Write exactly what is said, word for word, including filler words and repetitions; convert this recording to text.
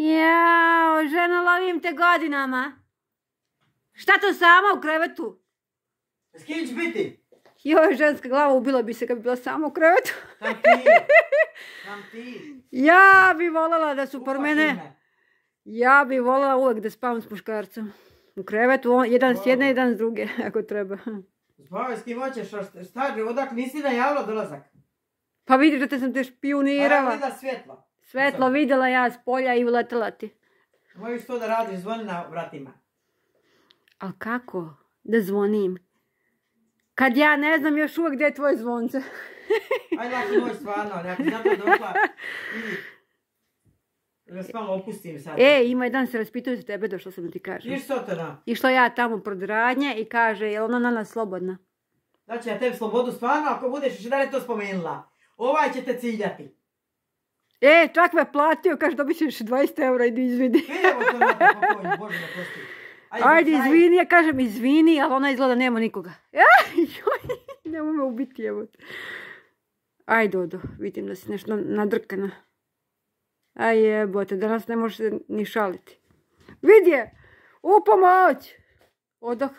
Jao, žena, lovim te godinama. Šta to sama u krevetu? S kim će biti? Joj, ženska glava, ubila bi se kad bi bila sama u krevetu. Tam ti. Tam ti. Ja bi voljela da su por Upaši mene. me. Ja bi voljela uvek da spavam s muškarcem. U krevetu, on, jedan s jedne, jedan s druge, ako treba. Spavaj s kim hoćeš, šta, odak nisi najavila dolazak? Pa vidiš da te sam te špionirala. Pa ja gleda svjetlo. Svetlo vidjela ja s polja i uletela ti. Možeš to da radiš, zvoni na vratima. Ali kako da zvonim? Kad ja ne znam još uvijek gdje je tvoje zvonce. Ajde lako moj stvarno, ali ako znam da došla, vidi. Da se malo opustim sad. E, ima jedan se raspituje za tebe, došla sam da ti kažem. Viš Sotona? Išla ja tamo pred radnje i kaže, je li ona na nas slobodna? Znači ja tebi slobodu stvarno, ako budeš još dalje to spomenula. Ovaj će te ciljati. E, čak me platio, kaže dobit ćeš dvadeset eura, idi izvini. Evo to na te pokojni, Bože me prosti. Ajde, izvini, ja kažem izvini, ali ona izgleda nema nikoga. Joj, nemoj me ubiti, evo. Ajde, Odo, vidim da si nešto nadrkana. Aj jebote, danas ne možeš ni šaliti. Vidi je, u pomoć! Odoh.